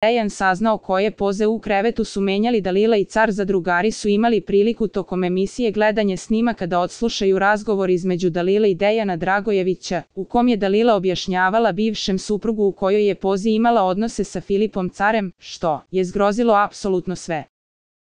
Dejan saznao koje poze u krevetu su menjali Dalila i car zadrugari su imali priliku tokom emisije gledanje snimaka da odslušaju razgovor između Dalile i Dejana Dragojevića, u kom je Dalila objašnjavala bivšem suprugu u kojoj je pozi imala odnose sa Filipom carem, što je zgrozilo apsolutno sve.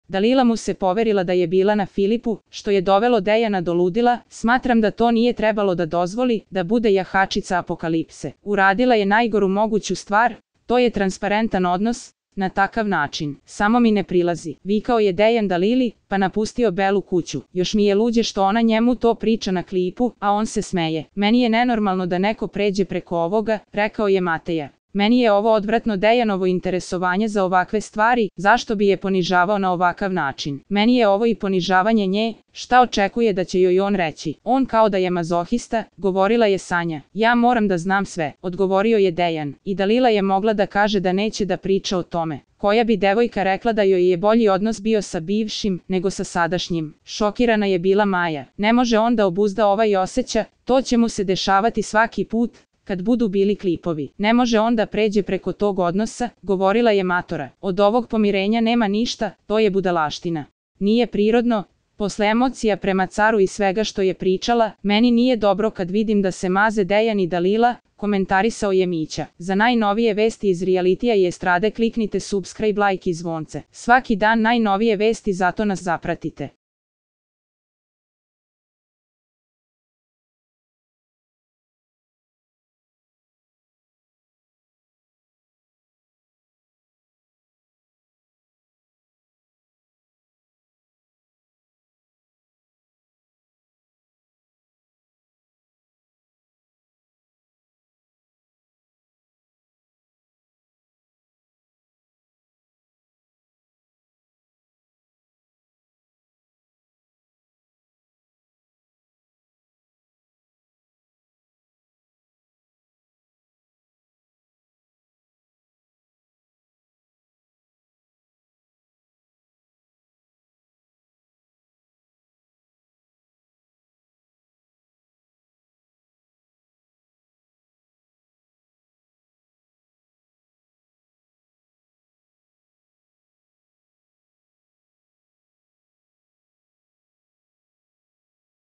Dalila mu se poverila da je bila na Filipu, što je dovelo Dejana do ludila. Smatram da to nije trebalo da dozvoli, da bude jahačica apokalipse. Uradila je najgoru moguću stvar, to je transparentan odnos, na takav način. Samo mi ne prilazi, vikao je Dejan Dalili, pa napustio Belu kuću. Još mi je luđe što ona njemu to priča na klipu, a on se smeje. Meni je nenormalno da neko pređe preko ovoga, rekao je Mateja. Meni je ovo odvratno Dejanovo interesovanje za ovakve stvari, zašto bi je ponižavao na ovakav način. Meni je ovo i ponižavanje nje, šta očekuje da će joj on reći. On kao da je mazohista, govorila je Sanja. Ja moram da znam sve, odgovorio je Dejan. I Dalila je mogla da kaže da neće da priča o tome. Koja bi devojka rekla da joj je bolji odnos bio sa bivšim, nego sa sadašnjim. Šokirana je bila Maja. Ne može on da obuzda ovaj osjeća, to će mu se dešavati svaki put, kad budu bili klipovi. Ne može on da pređe preko tog odnosa, govorila je Matora. Od ovog pomirenja nema ništa, to je budalaština. Nije prirodno, posle emocija prema caru i svega što je pričala, meni nije dobro kad vidim da se maze Dejan i Dalila, komentarisao je Mića. Za najnovije vesti iz realitija i estrade kliknite subscribe, like i zvonce. Svaki dan najnovije vesti, zato nas zapratite.